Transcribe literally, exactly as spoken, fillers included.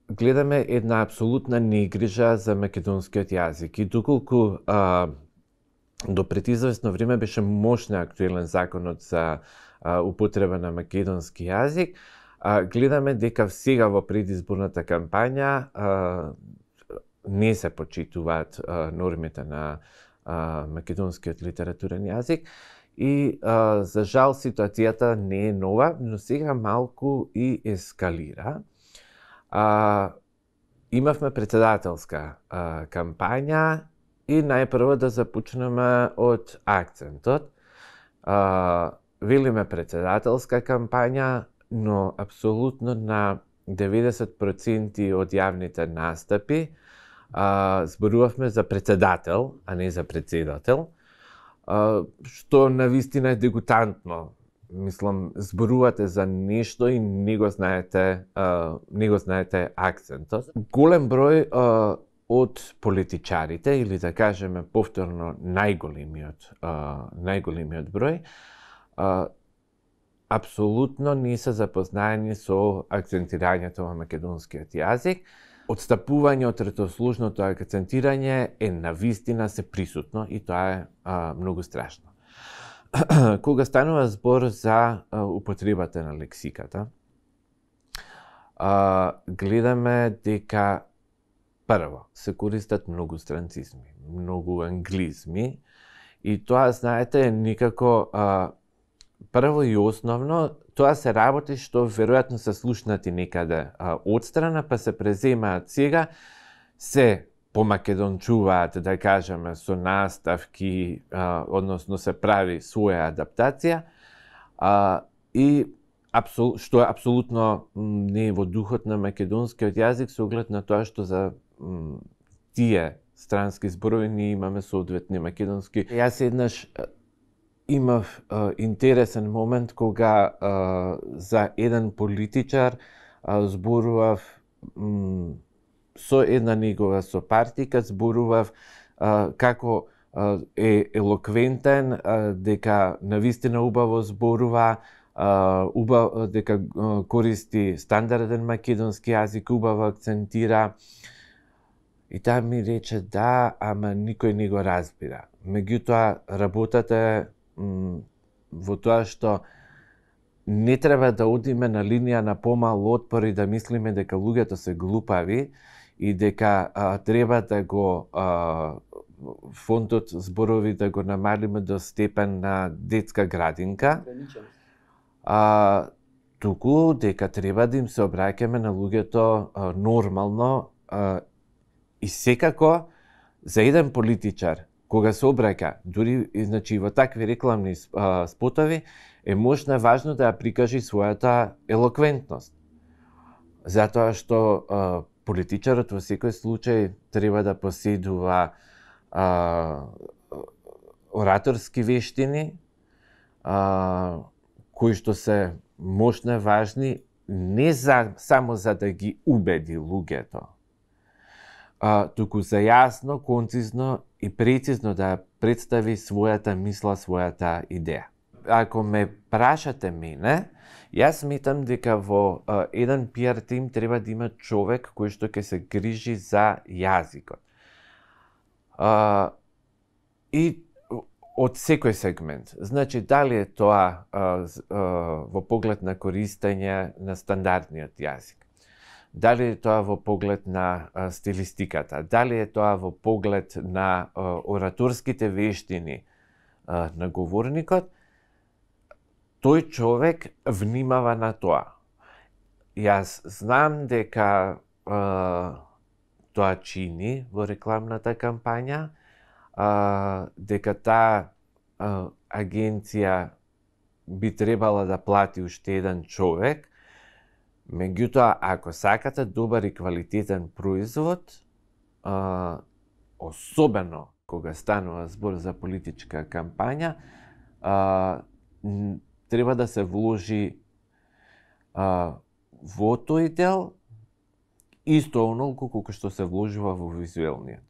гледаме една апсолутна негрижа за македонскиот јазик и доколку а, до пред известно време беше мощно актуелен законот за а, употреба на македонски јазик, а, гледаме дека сега во предизборната кампања а, не се почитуваат а, нормите на а, македонскиот литературен јазик и а, за жал ситуацијата не е нова, но сега малку и ескалира. А, имавме председателска а, кампања и најпрво да започнеме од акцентот. А, велиме председателска кампања, но апсолутно на деветдесет проценти од јавните настапи а, зборувавме за председател, а не за председател, а, што навистина е дегутантно. Мислам, зборувате за нешто и не го знаете, а, не го знаете акцентот. Голем број а, од политичарите, или да кажеме повторно најголемиот, а, најголемиот број, а, апсолутно не се запознаени со акцентирањето во македонскиот јазик. Отстапување од третослужното акцентирање е навистина се присутно и тоа е а, многу страшно. Кога станува збор за а, употребата на лексиката, а, гледаме дека прво се користат многу странцизми, многу англизми и тоа, знаете, никако а, прво и основно, тоа се работи што веројатно се слушнати некаде а, одстрана, па се преземаат сега, се помакедончуваат, да кажеме, со наставки, а, односно се прави своја адаптација, а, и апсол, што е апсолутно не е во духот на македонскиот јазик, со оглед на тоа што за м, тие странски зборови ние имаме соодветни македонски. Јас еднаш имав а, интересен момент кога а, за еден политичар а, зборував м, со една негова сопартика, зборував а, како а, е елоквентен, а, дека навистина убаво зборува, а, убав, дека а, користи стандарден македонски јазик, убаво акцентира. И таа ми рече, да, ама никој не го разбира. Меѓутоа, работата е во тоа што не треба да одиме на линија на помал отпор и да мислиме дека луѓето се глупави и дека а, треба да го а, фондот зборови да го намалиме до степен на детска градинка. А, туку дека треба да им се обраќаме на луѓето а, нормално а, и секако за еден политичар кога се обраќа, дури значи во такви рекламни а, спотови, е можно важно да ја прикажи својата елоквентност. Затоа што а, политичарот во секој случај треба да поседува а, ораторски вештини, а, кои што се мощно важни не за, само за да ги убеди луѓето, а, туку за јасно, концизно и прецизно да представи својата мисла, својата идеја. Ако ме прашате мене, јас сметам дека во а, еден пиар тим треба да има човек кој што ќе се грижи за јазикот. А, и од секој сегмент. Значи, дали е тоа а, а, во поглед на користење на стандардниот јазик, дали е тоа во поглед на а, стилистиката, дали е тоа во поглед на а, ораторските вештини а, на говорникот, тој човек внимава на тоа. Јас знам дека а, тоа чини во рекламната кампања, а, дека таа а, агенција би требала да плати уште еден човек. Меѓутоа, ако сакате добар и квалитетен производ, а, особено кога станува збор за политичка кампања, а, треба да се вложи а, во тој дел исто онолку колку што се вложува во визуелниот.